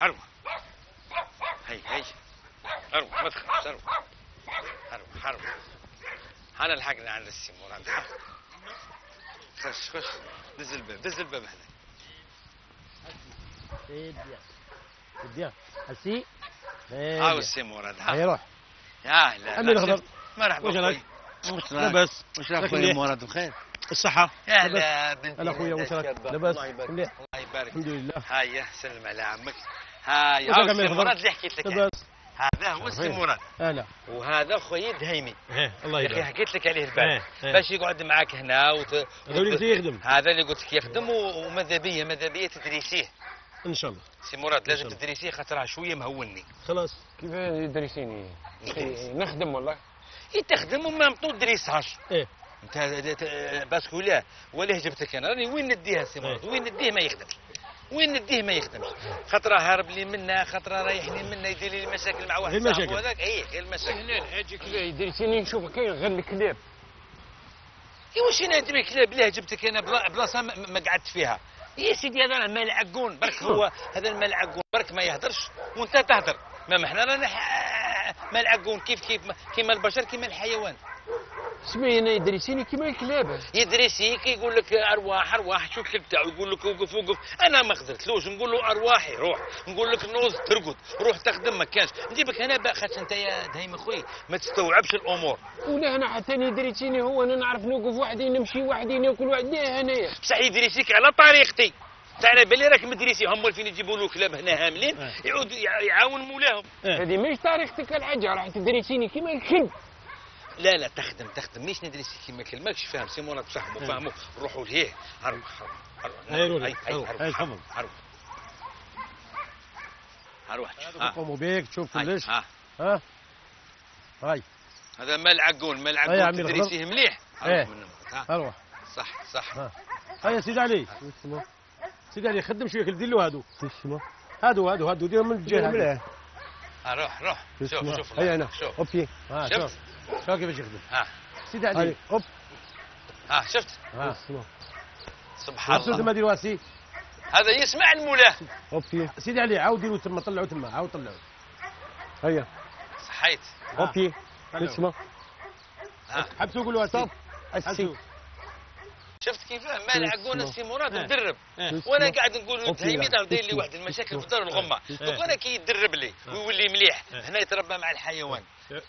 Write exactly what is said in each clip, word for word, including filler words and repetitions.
اروح. هي هي اروح ما تخافش اروح. اروح اروح. انا لحقنا عند السي مراد. خش خش دز الباب دز الباب هذا. سي بيان سي بيان السي هاو السي مراد. هيا روح. يا اهلا. عمي الخضر. مرحبا. واش راك؟ لاباس. واش راك خويا مراد بخير؟ الصحة. يا هلا بنتي. هلا خويا واش راك؟ لاباس؟ مليح. مليح. الله يبارك. الحمد لله. هيا سلم على عمك. هاي واش هاو راك عمي السي الخضر؟ مراد اللي حكيت لك. لاباس. هذا هو السي مراد. هلا. وهذا خويا دهيمي. ايه الله يا اخي يبارك. حكيت لك عليه البارح إيه، إيه. باش يقعد معاك هنا وت... هذا اللي يخدم. هذا اللي قلت لك يخدم و- وماذا بيا ماذا بيا تدريسيه. ان شاء الله. سي مراد لازم إن شاء الله. تدريسيه خاطرها شويه مهوني. خلاص. كيف يدرسيني؟ نخدم والله. هي تخدم وما مطول دريسهاش. ايه انت ت- باسكو لا ولا جبتك انا راني وين نديها سي مراد إيه. وين نديه ما يخدمش. وين نديه ما يخدمش. خاطره هارب لي منا خاطره رايح لي منا يدير لي مشاكل مع واحد غير صاحبه مشاكل. هذاك اي غير المشاكل. هنا الحاجة كذا يدرسيني نشوف كاين غير الكلاب. اي واش انا ندري كلاب لا جبتك انا بلا- بلاصه ما ما قعدت فيها. يا سيدي هذا ملعقون برك هو هذا الملعقون برك ما يهدرش وانت تهدر. ما احنا رانا ح- ملعقون كيف كيف كيما البشر كيما الحيوان. سمي هنا يدرسيني كيما الكلاب. يدرسيك يقول لك ارواح ارواح شو الكلب تاعو يقول لك وقف وقف. انا ما قدرتلوش نقول له ارواحي روح نقول لك نوض ترقد روح تخدم ما كانش نجيبك هنا بقى خاطر انت يا دايم اخوي ما تستوعبش الامور. ولا انا حتى يدرسيني هو انا نعرف نوقف وحدي نمشي وحدي ناكل وحدي هنايا. بصح يدرسيك على طريقتي. انت على بالي راك مدرسي هم فين يجيبوا له كلاب هنا هاملين اه. يعود يع- يعاون مولاهم. ايه هذه ماهيش طريقتك الحاجة راح تدرسيني كيما الكلب. لا لا تخدم تخدم مش ندرسي كيما كل ماكش فاهم سي مراد بصحبه اه. فاهموا روحوا لهيه هروح هروح هاي روح. هاي هاي هروح. هاي تفضل. هروح هروح يقوموا بيك تشوف هاي كلش. ها ها هاي هذا ملعقون هاي ملعقون عمي الخضر. تدريسيه مليح. ايه. هروح منهم. ها اروح. صح صح. ها هيا يا سيدي علي. سيدي علي خدم شويه دير له هادو. هادو هادو هادو ديرهم من الجهه هادو. ها روح روح شوف شوف هيا هنا شوف اوكي ها شفت؟ شوف شوف كيفاش يخدم. ها سيدي علي اوب ها شفت ها سبحان شو تما الله. دير واسي. هذا يسمع المولاه. اوكي سيدي علي عاود ديروا تما طلعوا تما عاود طلعوا. هيا صحيت. ها. اوكي طلعوا. اسمع ها حبسوا قولوا واسي. طب حبسوا. السي شفت كيف ملعقون السي مراد اه. مدرب. اه. وانا قاعد نقول له أوكي. تهيمي دار داير لي اسمه. واحد المشاكل في دار الغمه. اه. دوك انا كي يدرب لي ويولي مليح اه. هنا يتربى مع الحيوان. اه.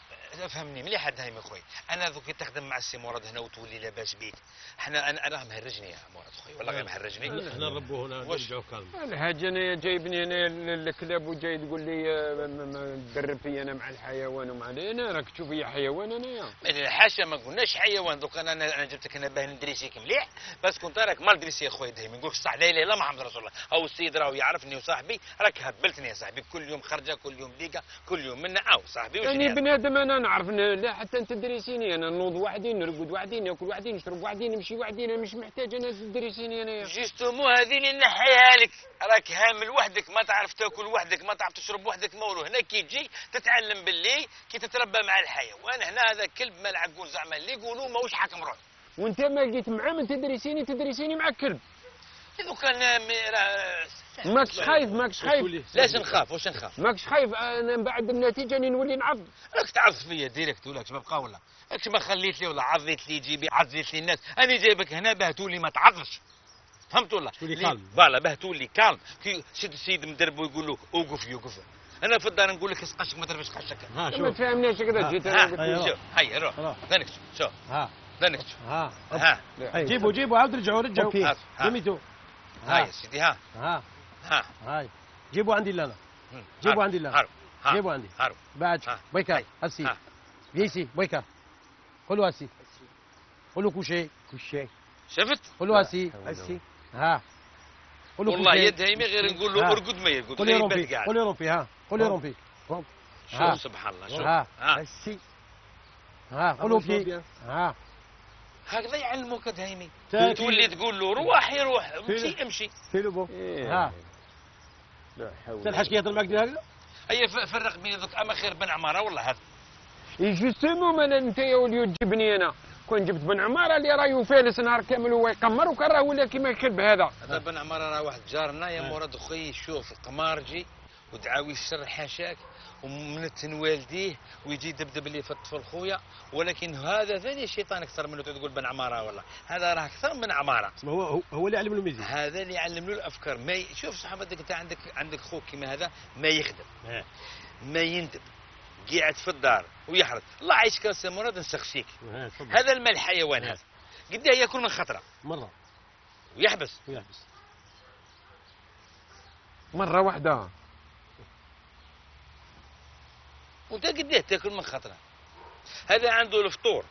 فهمني مليح هذا يا اخوي. انا دوك تخدم مع السي مراد هنا وتولي لاباس بيك. احنا انا انا مهرجني يا مراد خويا والله غير مهرجني. احنا نربوا هنا واش؟ نرجعوا كالم. الحاجة انا جايبني انا الكلاب وجاي تقول لي آه، ما- ما تدرب في انا مع الحيوان ومع انا راك تشوف يا حيوان انايا. من حاشا ما قلناش حيوان دوك انا انا جبتك انا باه ندريسيك مليح بس كنت راك مال دريسي يا خويا دايما نقول صح لا اله الا محمد رسول الله او السيد راهو يعرفني وصاحبي راك هبلتني يا صاحبي كل يوم خرجه كل يوم ديقه كل يوم منا او صاحبي وش يعني هذا؟ بنادم انا نعرف ن- لا حتى انت تدرسيني انا نوض وحدي نرقد وحدي ناكل وحدي نشرب وحدي نمشي وحدي انا مش محتاج انا تدرسيني انايا. جيستومو هذه اللي نحيها لك راك هامل وحدك ما تعرف تاكل وحدك ما تعرف تشرب وحدك مولو هنا كي تجي تتعلم باللي كي تتربى مع الحيوان هنا هذا كلب ملعقون زعما اللي يقولوا ماهوش حاكم روح. وانت ما لقيت معاه من تدرسيني تدرسيني مع كلب. اذا كان م- راه- ماكش خايف ماكش خايف لاش نخاف واش نخاف ماكش خايف انا من بعد النتيجه اني نولي نعض. راك تعض فيا ديريكت ولا كش ما بقى ولا كش ما خليت لي ولا عضيت لي جيبي عزيت لي الناس انا جايبك هنا باه تولي ما تعضش فهمت ولا تولي لي- كالم. فوالا باه تولي كالم كي شد السيد مدرب ويقول له اوقف يوقف انا في الدار نقول لك اسقشك ما ترفش قشك ها ما شوف. تفهمنيش كذا ها، جيت ها انا قلت هيا له شوف هيا روح روح. ذنك شوف ها ذنك ها ها هيا. جيبوا جيبوا عاود رجعوا رجعوا. أوكي. ها ها جميتوا. هاي ها يا سيدي ها ها ها هاي جيبوا عندي لانا. هم. جيبوا هارو، عندي لا. هارو ها. جيبوا عندي. هارو بعد ها. بويكا هاي. هسي ها. فيسي بويكا قولوا هسي قولوا كوشي كل شفت قولوا هسي السي ها قولوا والله كوشي. يد هيمي غير نقول له ها. ارقد ما يرقد قولي غير رومبي يبات قاعد قولي رومبي ها قولي روم. رومبي ها. شوف سبحان الله شوف ها. ها السي ها قولوا في ها هكذا يعلموك دايمي تاكي. تولي تقول له روح يروح فين؟ امشي امشي فيلبو ها لا حول تلحق كي يهضر معك دير هكذا. هيا ف- فرق بين ذوك اما خير بن عماره والله هذا جوستومون ما انت يا وليو تجيبني انا كون جبت بن عماره اللي راهو فالس نهار كامل وهو يقمر وكان راه ولا كيما الكلب هذا. هذا بن عماره راه واحد جارنا يا مراد خويا يشوف قمارجي ودعاوي الشر حاشاك ومنتن والديه ويجي يدبدب اللي في الطفل خويا، ولكن هذا ثاني الشيطان اكثر منه تقول بن عماره، والله هذا راه اكثر من عماره. هو هو- هو اللي علم له الميزان. هذا اللي يعلم له الافكار. ما ي... شوف صحابتك انت عندك عندك خوك كيما هذا ما يخدم اه ما يندب قاعد في الدار ويحرث. الله يعيشك يا سي مراد نسخسيك. اه تفضل. هذا المال الحيوان هذا قداه ياكل من خطره مره ويحبس. ويحبس. مره واحده. وانت قداه تاكل من خطره. هذا عنده الفطور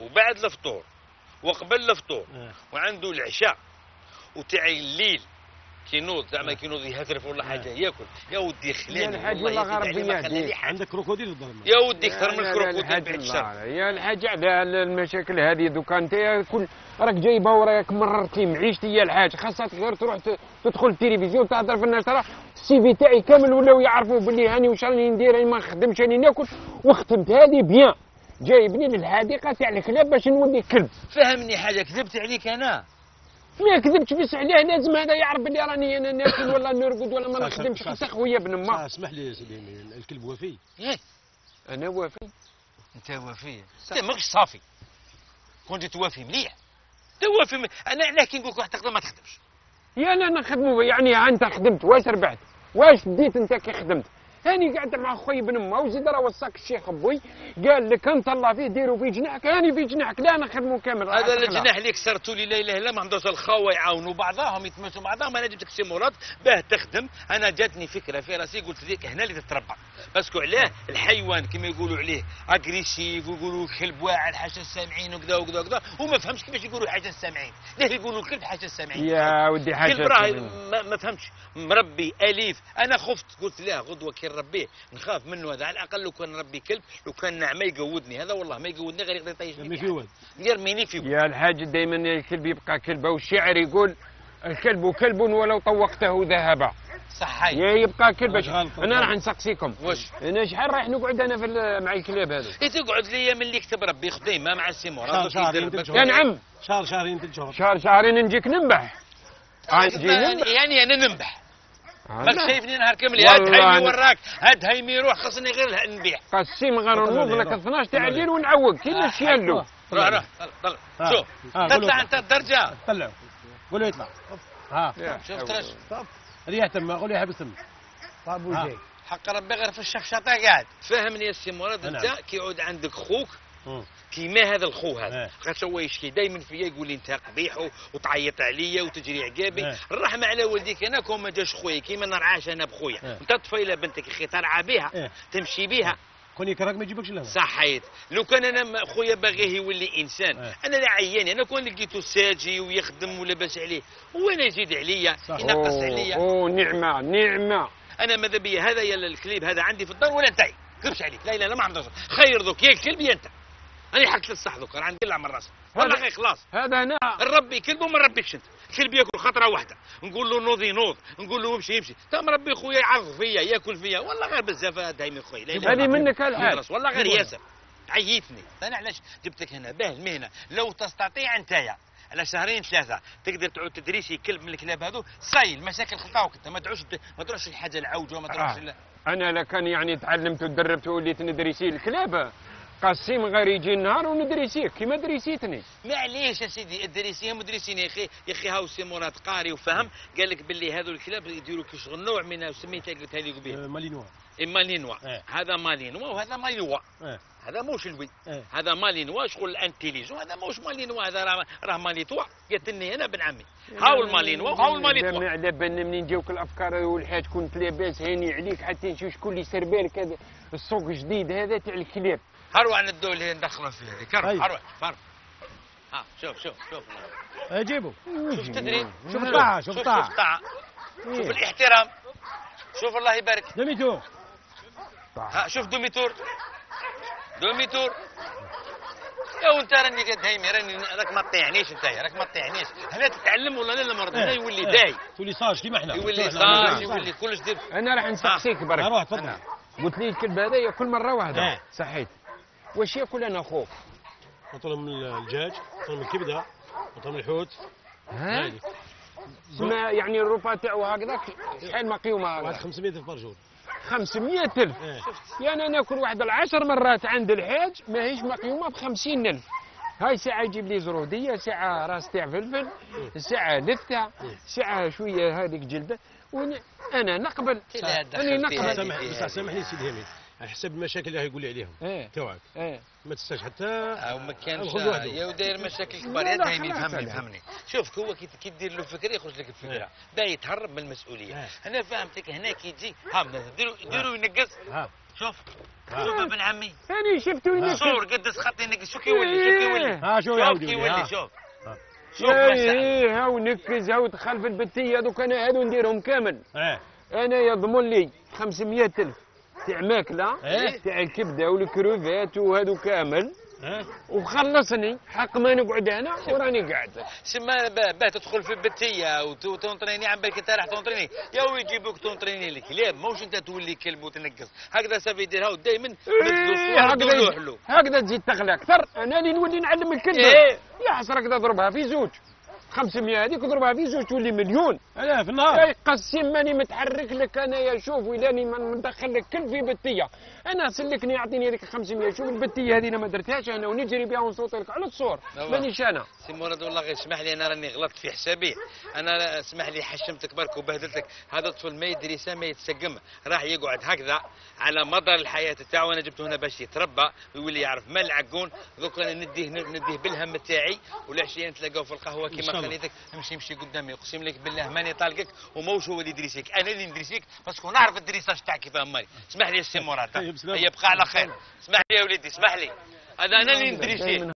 وبعد الفطور وقبل الفطور اه وعنده العشاء وتاعي الليل كينوض زعما كينوض يهترف ولا حاجه ياكل. يا ودي خلاني يا الحاج والله يا غير سيدي ما بيا خلى لي ديك. حاجة. عندك كروكوديل في الظلمه. يا ودي اكثر من لا لا الكروكوديل الحاج بعد الشر. الله، يا الحاج على المشاكل هذه دوكا انت كل راك جايبها وراك مررتي معيشتي يا الحاج، خاصك غير تروح ت- تدخل التلفزيون تهضر في الناس، ترى السي في تاعي كامل ولاو يعرفوا باللي هاني واش راني ندير، راني ما نخدمش راني ناكل، وختمت هذه بيان جايبني للحديقه تاع الكلاب باش نولي كلب. فهمني حاجه كذبت عليك انا. ما كذبتش بس عليه لازم هذا يعرف بلي راني انا ناكل ولا نرقد ولا ما صح- نخدمش، صح- حتى خويا بن ما. اسمح لي يا سيدي، الكلب وفي. إيه، انا وافي. انت وفي انت ماكش صافي. كنت توافي مليح توافي م... انا علاه كي نقول لك واحد تقدر ما تخدمش. يا لا نخدموا يعني ها انت خدمت واش ربحت؟ واش ديت انت كي خدمت؟ هاني قاعد مع خويا بن ما وزيد راه وصاك الشيخ بوي قال لك انت الله فيه ديروا في جناحك، هاني في جناحك لا نخدموا كامل. راه هذا تخلع. الجناح اللي كسرتوا لي لا اله الا الله ما عندوش الخاوه يعاونوا بعضهم يتمسوا بعضهم. انا جبتك سي مراد باه تخدم. انا جاتني فكره في راسي قلت لك هنا اللي تتربى باسكو علاه الحيوان كما يقولوا عليه اغريسيف ويقولوا كلب واعر حاشا السامعين وكذا وكذا وكذا، وما فهمش كيفاش يقولوا حاجه السامعين. ليه يقولوا الكلب حاشا السامعين؟ يا ودي حاجه كلب راه ما, ما فهمتش مربي اليف. انا خفت قلت لا غدوه كي نربيه نخاف منه هذا. على الاقل لو كان نربي كلب لو كان نعمه يقودني، هذا والله ما يقودني غير يقدر يطيشني يرمي في واد. يرميني في يا الحاج دائما الكلب يبقى كلبه، والشاعر يقول الكلب كلب ولو طوقته ذهبا. صحيح. يا يبقى كلب. واش غلط؟ انا راح نسقسيكم واش؟ انا شحال راح نقعد انا في ال- مع الكلاب هذو؟ إيه تقعد ليا من اللي كتب ربي خديمه مع السي شهر- مراد شهرين وكيدير تلت يا شهور. نعم شهر شهرين ثلاث شهور. شهر شهرين نجيك ننبح. آه، نجي ننبح. يعني انا ننبح آه، ماك لا. شايفني نهار كامل هاد والله هايمي أنا- وراك هاد هايمي يروح خاصني غير نبيع. قسيم غير طلع نوض لي، لك روح. اثناش تاع طلع لي. الليل ونعوق كيما شيالو. روح روح طلع آه. شوف آه، قول تطلع له. انت الدرجه. طلعوا قول له يطلع. ها شوف ترى ريح تم، قول له يحبس تم. طاب ها. وجاي. حق ربي غير في الشفشطه قاعد. فهمني يا سي مراد نعم. انت كيعود عندك خوك مم. كيما هذا الخو هذا إيه. خاطر هو يشكي دائما فيا يقول لي انت قبيح و- وتعيط عليا وتجري عقابي. إيه. الرحمه على والديك انا كون ما جاش خويا كيما نرعاش انا بخويا. إيه. انت طفيله بنتك اخي ترعى بها إيه. تمشي بها. كون يكرهك ما يجيبكش لهنا. صحيت. لو كان انا م- خويا باغيه يولي انسان إيه. انا لا عياني. انا كون لقيته ساجي ويخدم ولاباس عليه هو انا يزيد عليا صح. ينقص أوه، عليا. اوه نعمه نعمه. انا ماذا بيا هذا يا الكليب هذا عندي في الدار ولا انتهي كذبش عليك. لا لا لا ما عندوش خير ذوك يا الكلب يا انت. انا حكيت الصح ذوك راه ندلع من راسي والله هذا- غير خلاص. هذا انا نربي كلب وما نربيكش انت. الكلب ياكل خطره واحده نقول له نوض ينوض نقول له امشي يمشي. تا مربي خويا يعرض فيا ياكل فيا والله غير بزاف دايما خويا. لا لا هذه منك الحال. خلاص والله غير ياسر عيتني. انا علاش جبتك هنا باه المهنه لو تستطيع انت على شهرين ثلاثه تقدر تعود تدريسي كلب من الكلاب هذو صاي المشاكل خطاوك انت. ما تعوش ما تروحش الحاجه العوجه وما تروحش آه. ال- انا لو كان يعني تعلمت ودربت وليت ندريسي الكلاب قسيم غير يجي النهار وندريسيه كيما دريسيتني. معليش يا سيدي ادريسيهم مدرسين يا اخي. يا اخي هاو سي مراد قاري وفهم قال لك باللي هذو الكلاب يديروا كي شغل نوع من سميتها قلتها لي قبيل آه، مالينوا. مالينوا. إيه. هذا مالينوا وهذا ماليوا. إيه. هذا موش الوي. إيه. هذا مالينوا شغل الانتيليجون. هذا موش مالينوا هذا راه راه ماليتوا قالت لي انا بن عمي. هاو المالينوا وهاو الماليتوا. على بالنا منين جاوك الافكار والحاج كنت لاباس هاني عليك حتى نشوف شكون اللي سير بالك هذا السوق الجديد هذا تاع الكلاب. هروح ندو اللي ندخلوا فيه هذيك. أي. هروح هروح. ها شوف شوف شوف آه، جيبوا. شوف تدري شوف الطاعة، شوف شوف الطاعة. شوف الطاعة. شوف الاحترام. شوف الله يبارك. دميتو. ها شوف دوميتور دوميتور. يا وانت راني قد هيمي راني راك ما تطيعنيش انت راك ما تطيعنيش. هلا تتعلم ولا لا المرض هذا يولي داي تولي صاج كيما احنا. يولي كيما صاج إحنا. يولي كلش دير. انا راح نسقسيك برك. روح تفضل. قلت لي الكلب هذا ياكل مره واحده. إيه. صحيت. واش ياكل انا خوف؟ نطلب من الدجاج، نطلب من الكبده، نطلب من الحوت. ها؟ هادي. سما يعني الروبا تاعو هكذاك شحال مقيومه واحد هكذا خمسمية ألف برجول. خمسمية ألف. إيه. يعني انا ناكل واحد العشر مرات عند الحاج ماهيش مقيومه ب خمسين ألف. هاي ساعة يجيب لي زرودية، ساعة راس تاع فلفل، ساعة لثة، ساعة شوية هذيك جلدة، وأنا نقبل. أنا نقبل. سامح بصح سامحني سيدي هامي، على حسب المشاكل اللي يقول لي عليهم. إيه. توعك. إيه. ما تستاش حتى. او ما كانش خذ وحده. يا وداير مشاكل كبار. لا، يا لا، دايمي خلاص فهمني هذا. فهمني. شوف هو كي كي دير له فكره يخرج لك الفكره. باغي يتهرب من المسؤوليه. إيه. انا فهمتك هنا كي تجي ها ديروا ديروا ينقص. ها. شوف شوف ابن عمي أنا شفتو ينقص. صور قدس خط ينقص. شو كيولي شو كيولي ها شو شوف يعاود كيولي يولي. شوف شوف ما شاء الله. ايه هاو نكز هاو دخل في البتيه هذوك انا هذو نديرهم كامل. ايه. انا يضمن لي خمسمية ألف تاع ماكله إيه. تاع الكبده والكروفات وهذو كامل، ها. وخلصني حق ما نقعد هنا وراني قاعد. سما باه تدخل في البتيه وتونطريني عم بالك انت راح تونطريني يا ويجيبوك تونطريني لك. لا موش انت تولي كلب وتنقص هكذا سافي يديرها ودائما إيه هكذا له هكذا تزيد تغلى اكثر. انا اللي نولي نعلم الكلب. إيه. يا حسرك تضربها في زوج خمسمية هذيك اضربها في زوج تولي مليون. لا في النهار. اي قسم ماني متحرك لك انا يا شوف ولاني ما ندخل لك كل في بتيه. انا سلكني يعطيني هذيك خمسمية. شوف البتيه هذه انا ما درتهاش انا ونجري بها ونصوت لك على الصور مانيش انا. سي مراد والله غير اسمح لي انا راني غلطت في حسابي. انا اسمح لي حشمتك برك وبهدلتك. هذا الطفل ما يدري ما يتسقم راح يقعد هكذا على مدار الحياه تاعو. انا جبته هنا باش يتربى ويولي يعرف ما العقون. دوك انا نديه نديه بالهم تاعي والعشيه نتلاقاو في القهوه كيما خليتك امشي امشي قدامي. اقسم لك بالله ماني طالقك وموش هو اللي يدريسيك انا اللي ندريسيك باسكو نعرف الدريساج تاعك كيفاه مالي. اسمح لي السي مراد يبقى على خير. اسمح لي يا وليدي اسمح لي هذا انا اللي ندريسيك.